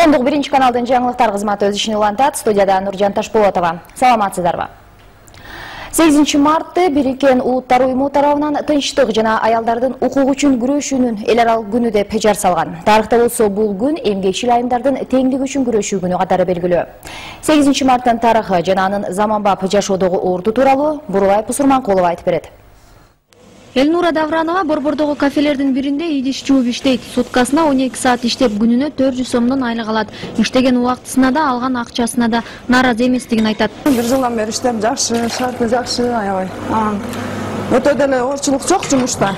Коомдук биринчи каналдын жаңылыктар кызматы өз ишин улантат. Студияда Нуржан Ташполотова. Саламатсыздарбы? 8 мартты Бириккен Улуттар уюму тарабынан тынчтык жана аялдардын укугу үчүн күрөшүүнүн эл аралык күнү деп жар салган. Тарыхта болсо бул күн эмгекчил айымдардын теңдиги үчүн күрөшүү күнү катары белгилүү. 8 марттын тарыхы жана анын заманбап жашоодогу орду тууралуу Бурулай Пусурманкулова айтып берет. Элнура Давранова борбордогу кафелердин биринде идиш жууп иштейт. Суткасына 12 саат иштеп, күнүнө 400 сомдон айлык алат. Иштеген убактысына да, алган акчасына да нааразы эместигин айтат. Бир жылдан бери иштеп, жакшы, шарты жакшы, аябай. Өтө деле оорчулук жок жумушта.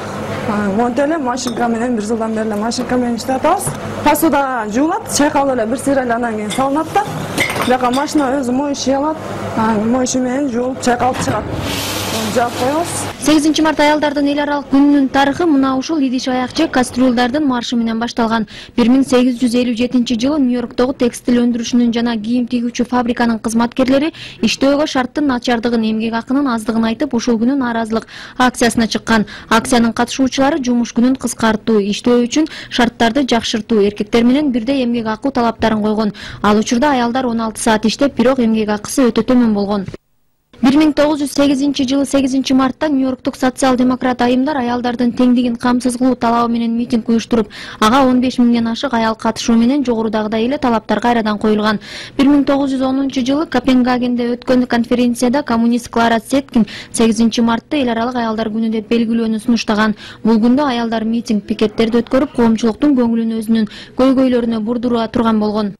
Монтип эле машинка менен бир жылдан бери машинка менен иштеп атабыз. Посуда жуулат, чайкалып эле бир сыйрайлы андан кийин салынат да. Жака машина өзү моющий алат. Моющий менен жуулуп, чайкалып чыгат. 8 март аялдардын эл аралык күнүнүн тарыхы мына ушул идиш аякчы кастрюльдардын маршы менен башталган. 1857-жылы Нью-Йорктогу текстил өндүрүшүнүн жана кийим тигүүчү фабриканын кызматкерлери иштөөгө шарттын начардыгын, эмгек акынын аздыгын айтып, ушул күнү нааразылык акциясына чыккан. Акциянын катышуучулары жумуш күнүн кыскартуу, иштөө үчүн шарттарды жакшыртуу, эркектер менен бирдей эмгек акы талаптарын койгон. Ал учурда аялдар 16 саат иштеп, бирок эмгек акысы өтө төмөн болгон. 1908-жылы 8 мартта Нью-Йорктук социал-демократ айымдар аялдардын теңдигин камсыз кылуу талабы менен митинг уюштуруп, ага 15 миңден ашык аял катышуу менен жогорудагыдай эле талаптар кайрадан коюлган. 1910-жылы Копенгагенде өткөн конференцияда коммунист Клара Цеткин 8 мартты эл аралык аялдар күнү деп белгилөөнү сунуштаган. Бул күндө аялдар митинг, пикеттерди өткөрүп, коомчулуктун көңүлүн өзүнүн көйгөйлөрүнө бурдура турган болгон.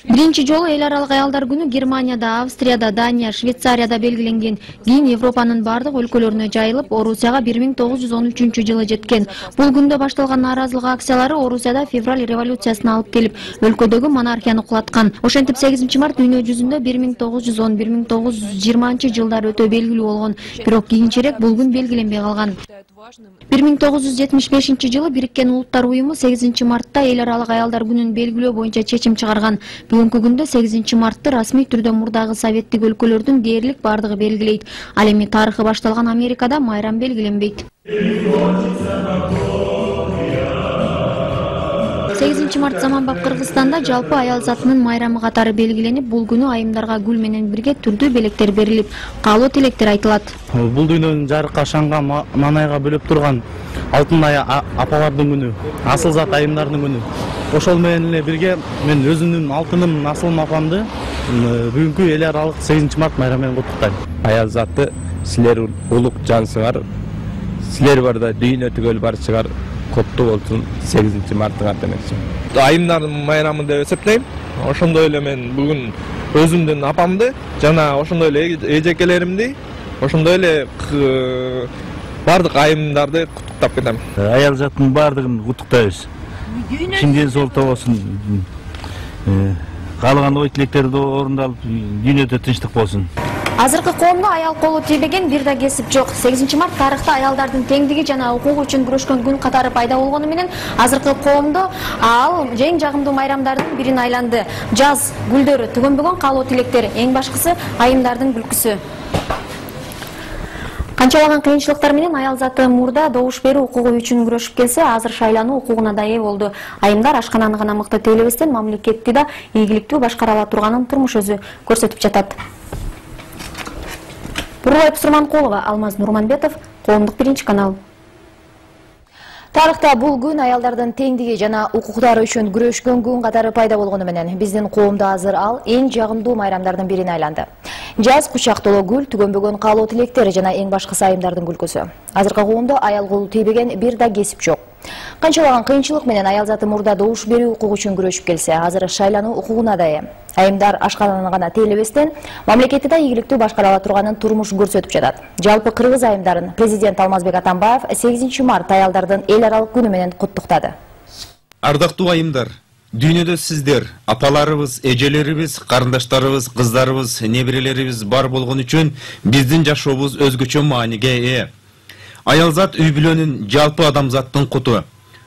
Биринчи жолу эл аралык аялдар күнү Германияда, Австрияда, Дания, Швейцария белгиленген. Кийин Европанын бардык өлкөлөрүнө жайылып, Орусияга 1913-жылы жеткен. Бул күндө башталган нааразылык акциялары Орусияда февраль революциясына алып келип, өлкөдөгү монархияны кулаткан. Ошентип 8 март дүйнө жүзүндө 1910-1920 жылдар өтө белгилүү болгон. Бирок кийинчерээк бул күн белгиленбей калган. 1975-жылы Бириккен Улуттар уюму 8 мартта эл аралык аялдар күнүн белгилөө боюнча чечим чыгарган. Бүгүнкү күндө 8 мартты расмий түрдө мурдагы советтик өлкөлөрдүн дээрлик бардыгы белгилейт. Ал эми тарыхы башталган Америкада майрам белгиленбейт. 8 март заманбап Кыргызстанда жалпы аял затынын майрамы катары белгиленип, бул күнү айымдарга гүл менен бирге түрдүү белектер берилип, каалоо тилектер айтылат. Бул дүйнөнүн жарыкка шаңга манайга бөлөп турган алтын ая апалардын күнү, асыл зат айымдардын күнү. Ошол менен эле бирге мен өзүмдүн алтыным Асылым апамды бүгүнкү эл аралык 8 март майрамы менен куттуктайм. Аял заты силер улук жансыңар, силер барда дүйнө түгөл барчыгар. Копту болсун 8 марттын аттанасы. Айымдардын майрамы деп эсептейм. Ошондой эле мен бүгүн өзүмдүн апамды жана ошондой эле эжекелеримди, ошондой эле бардык айымдарды куттуктап кетем. Аял заттын бардыгын куттуктайбыз. Чынден сол болсун. Каалаган ой тилектерди орундалып, дүйнөдө тынчтык болсун. Азыркы коомдо аял колу тийбеген бир да кесип жок. 8 март тарыхта аялдардын теңдиги жана укугу үчүн күрөшкөн күн катары пайда болгону менен азыркы коомдо ал эң жагымдуу майрамдардын бирин айланды. Жаз гүлдөрү, түгөнбөгөн каалоо тилектер, эң башкысы айымдардын күлкүсү. Канчалаган кыйынчылыктар менен аял заты мурда добуш берүү укугу үчүн күрөшүп келсе, азыр шайлануу укугуна да ээ болду. Айымдар ашкананы гана мыкты тейлебестен мамлекетти да ийгиликтүү башкара ала турганын турмуш өзү көрсөтүп жатат. Бурулай Пусурманкулова, Алмаз Нурманбетов, Коомдук биринчи канал. Тарыхта бул күн аялдардын теңдиги жана укуктары үчүн күрөшкөн күн катары пайда болгону менен биздин коомдо азыр ал эң жагымдуу майрамдардын бирине айланды. Жаз кучактоо гүл, түгөнбөгөн каалоо тилектери жана эң башкысы айымдардын күлкүсү. Азыркы коомдо аял колу тийбеген бир да кесип жок. Канчалаган кыйынчылык менен аял заты мурда добуш берүү укугу үчүн күрөшүп келсе, азыр шайлануу укугуна да ээ. Айымдар ашкананы гана тейлебестен мамлекетти да ийгиликтүү башкара ала турганын турмуш көрсөтүп жатат. Жалпы кыргыз айымдарын президент Алмазбек Атамбаев 8 март аялдардын эл аралык күнү менен куттуктады. Ардактуу айымдар, дүйнөдө сиздер, апаларыбыз, эжелерибиз, карындаштарыбыз, кыздарыбыз, неберелерибиз бар болгон үчүн биздин жашообуз өзгөчө мааниге ээ. Аял зат үй бүлөнүн жалпы адамзаттын куту,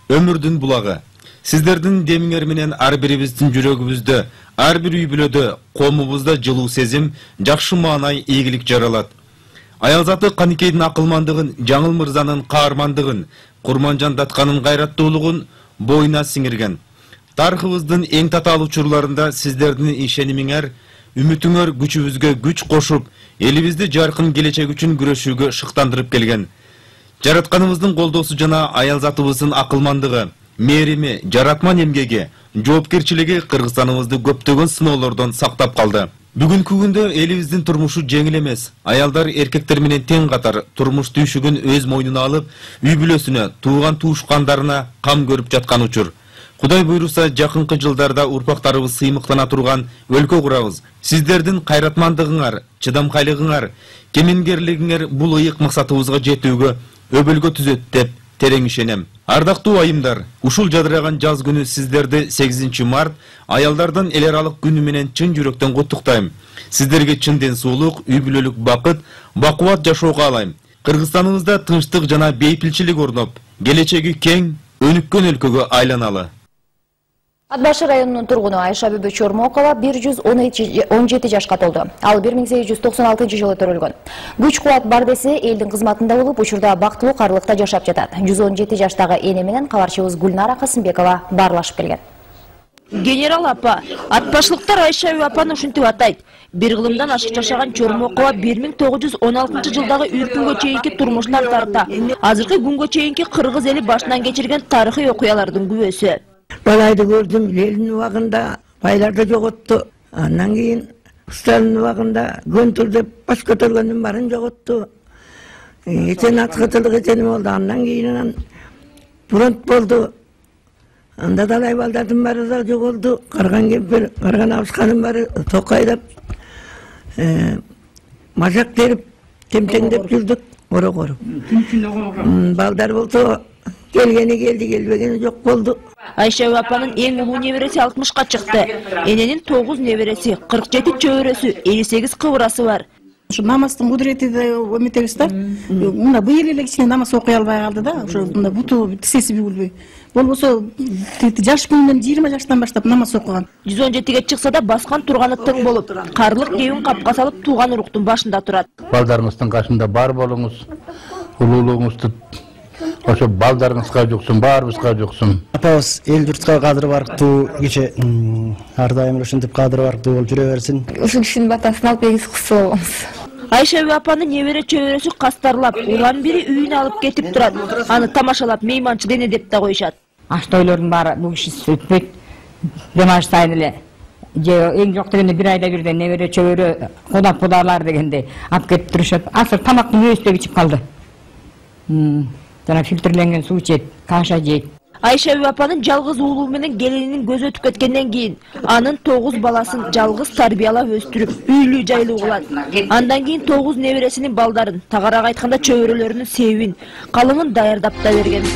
өмүрдүн булагы. Сиздердин демиңер менен ар бирибиздин жүрөгүбүздө, ар бир үй бүлөдө, коомубузда жылуу сезим, жакшы маанай, ийгилик жаралат. Аял заты Каникейдин акылмандыгын, Жаңыл мырзанын каармандыгын, Курманжан Датканын гайраттуулугун боюна сиңирген. Тарыхыбыздын эң татаал учурларында сиздердин ишенимиңер, үмүтүңөр күчүбүзгө күч кошуп, элибизди жаркын келечек үчүн күрөшүүгө шыктандырып келген. Жаратканыбыздын колдоосу жана аялзатыбыздын акылмандыгы, мээрими, жаратман эмгеги, жоопкерчилиги Кыргызстаныбызды көптөгөн сыноолордон сактап калды. Бүгүнкү күндө элибиздин турмушу жеңил эмес. Аялдар эркектер менен тең катар турмуш түйшүгүн өз мойнуна алып, үй бүлөсүнө, тууган туушкандарына кам көрүп жаткан учур. Кудай буйруса, жакынкы жылдарда урпактарыбыз сыймыктана турган өлкө курабыз. Сиздердин кайратмандыгыңар, чыдамкайлыгыңар, кемеңгерлигиңер бул ыйык максатыбызга жетүүгө өбөлгө түзөт деп терең ишенем. Ардактуу айымдар, ушул жадыраган жаз күнү сиздерди 8 март аялдардын эл аралык күнү менен чын жүрөктөн куттуктайм. Сиздерге чын ден соолук, үй бүлөлүк бакыт, бакубат жашоо каалайм. Кыргызстаныбызда тынчтык жана бейпилчилик орноп, келечеги кең, өнүккөн өлкөгө айланалы. Ат Башы районунун тургуну Айша Бүбү Чормокова 117 жашка толду. Ал 1896-жылы төрөлгөн. Күч-кубат бар десе, элдин кызматында болуп, учурда бактылуу карлыкта жашап жатат. 117 жаштагы эне менен кабарчыбыз Гүлнара Касымбекова баарлашып келген. Генерал апа, атбашлыктар Айша Бүбү апаны ушинтип атайт. Бир кылымдан ашык жашаган Чормокова 1916-жылдагы үркүнгө чейинки турмуштан тарта, азыркы күнгө чейинки кыргыз эли башынан кечирген тарыхый окуялардын күбөсү. Балайды көрдüm, елдің уағында байларды жоғытты. Андан кейін Сталин уағында гөнтүр деп бас көтөргөндүн барын жоғытты. Ечен атқытылық еченім олды. Андан кейін фронт болды. Анда далай балдардың бары да жоғылды. Қарған кемпір, қарған абысқаның бары тоқайдап, мажақ теріп, темтеңдеп жүрдік. Ора-қорып. Балдар болды. Келгени келди, келбегени жок болду. Айша Бүбү апанын эң улуу небереси 60-ка чыкты. Эненин 9 небереси, 47 чөбөрөсү, 58 кыбырасы бар. Ушу намаздын кудурети да эметебиз да. Мына быйыл эле кичине намаз окуй албай калды да. Ошо мында буту тисеси бүгүлбөй. Болбосо жаш күнүнөн 20 жаштан баштап намаз окуган. 117-ге чыкса да баскан турганы тың болуп, карлык кебин капка салып тууган уруктун башында турат. Балдарыңыздын кашында бар болуңуз, улуулугуңузду ошо балдарыңызга жуксун, баарыбызга жуксун. Апабыз эл журтка кадыр барктуу, кече ар дайым ушинтип кадыр барктуу болуп жүрө берсин. Ушул кишинин батасын алып эгиз кызы болобуз. Айша Бүбү апаны небере чөбөрөсү кастарлап, улам бири үйүнө алып кетип турат. Аны тамашалап мейманчы дене деп да коюшат. Аш тойлордун баары бул киши өтпөйт. Демаш сайын эле. Же эң жок дегенде бир айда бирден небере чөбөрө кударлар дегенде алып кетип турушат. Азыр тамактын өзү деп ичип калды. Жана фильтрленген суу ичет, каша жейт. Айша Бүбү апанын жалгыз уулу менен келининин көзү өтүп кеткенден кийин анын 9 баласын жалгыз тарбиялап өстүрүп, үйлүү жайлуу кылат. Андан кийин 9 небересинин балдарын, тагарак айтканда чөбөрөлөрүнүн себин, калымын даярдап да берген.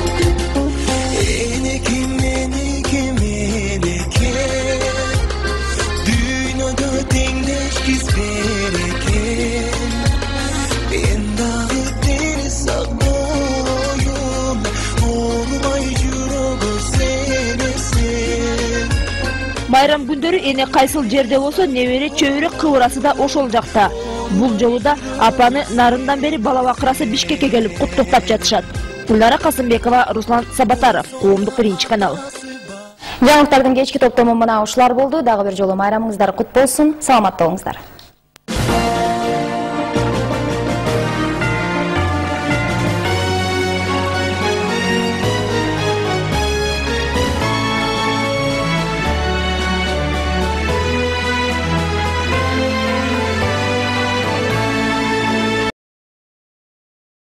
Байрам күндөрү эне кайсыл жерде болсо небере чөбөрө кыбырасы да ошол жакта. Бул жолу да апаны нарындан бери бала бакырасы Бишкекке келип куттуктап жатышат. Гүлнара Касымбекова, Руслан Сабатаров, Коомдук 1-канал. Жаңылыктардын кечки топтому мына ушулар болду. Дагы бир жолу майрамыңыздар кут болсун. Саламатта болуңуздар.